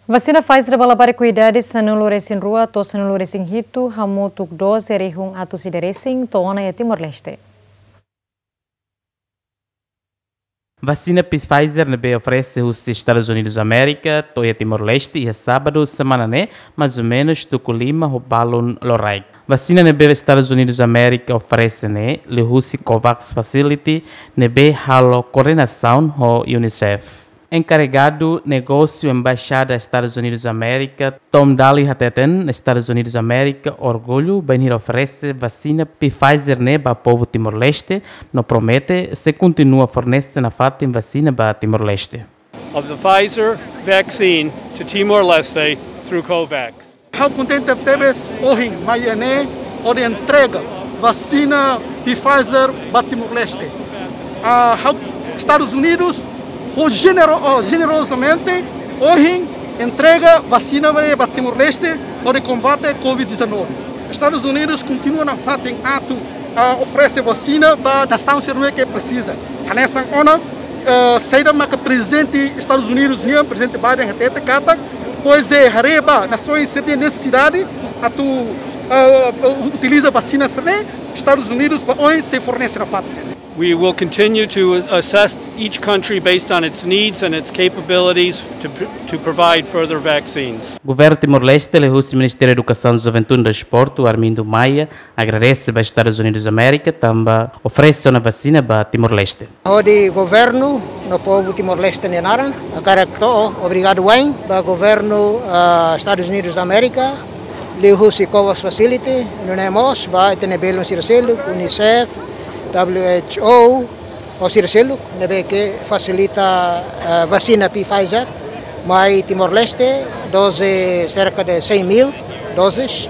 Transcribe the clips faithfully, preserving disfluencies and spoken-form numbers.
Vasina Pfizer ba labarik ho idade sanulu-resin-rua to'o sanulu-resin-hitu, hamutuk doze rihun atus ida-resin, to'o ona iha Timor-Leste. Vasina Pfizer ne'ebé oferese husi Estadus Unidus Amérika to'o iha Timor-Leste iha sábadu semana ne'e, mais ou menus tuku lima ho balun loraik. Vasina ne'ebé Estadus Unidus Amérika oferese ne'e liuhusi COVAX Facility ne'ebé halo koordenasaun ho UNICEF. Enkarregadu negósiu Embaixada Estadus Unidus Amérika, Tom Daley, hateten Estadus Unidus Amérika orgullu bainhira oferese vasina Pfizer ne'e ba povu Timor-Leste, no promete sei kontinua fornese nafatin vasina ba Timor-Leste. Of the Pfizer vaccine to Timor-Leste through COVAX. Ha'u kontente tebes ohin mai iha ne'e hodi entrega vasina Pfizer ba Timor-Leste. Ah, ha'u, Estadus Unidus ho jenero-, oh, jenerozamente ohin entrega vasina ba, ba Timor-Leste hodi kombate COVID dezanove. Estadus Unidus kontinua nafatin atu, ah, oferese vasina ba nasaun sira ne'ebé ke presiza. Hanesan ona, ah, saida maka Prezidente Estadus Unidus nian, Prezidente Biden hatete katak, pois de haree ba nasaun sira-nia nesesidade atu, ah, utiliza vasina sira-ne'e, Estadus Unidus ba oin sei fornese nafatin. We will continue to assess each country based on its needs and its capabilities to, to provide further vaccines. Governu Timor-Leste, liuhusi Ministériu Edukasaun, Juventude no Desportu, Armindo Maia, agradese ba Estadus Unidus Amérika tanba oferese ona vasina ba Timor-Leste. Hodi governu no povu Timor-Leste nia naran, hakarak to'o obrigadu wa'in ba governu, ah, Estadus Unidus da Amérika, liuhusi COVAX Facility, nune'e mós ba ita-nia belun sira seluk, UNICEF, W H O, ho sira seluk ne'ebé ke fasilita, eh, vasina Pfizer mai Timor-Leste, doze, cerca de cem mil doses.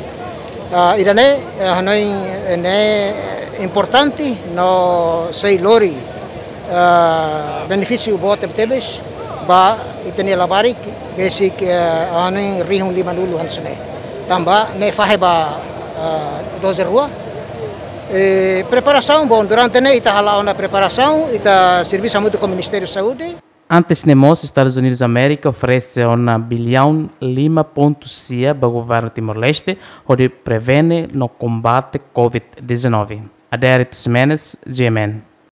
Ah, ida-ne'e, eh, hanoin ne'e importante no sei lori, eh, benefísiu boot tebetebes ba ita-nia labarik, besik, eh, hanoin rihun limanulu hanesan ne'e. Tanba ne'e fahe ba, eh, doze rua. Eh, preparasaun, bom, durante ne'e ita hala'o ona preparasaun, ita servisu hamutuk ho Ministériu Saúde. Antes ne'e mós, Estadus Unidus Amérika oferese ona biliaun lima pontu sia ba governu Timor-Leste hodi prevene no kombate COVID dezanove. Adérito Ximenes, G M N.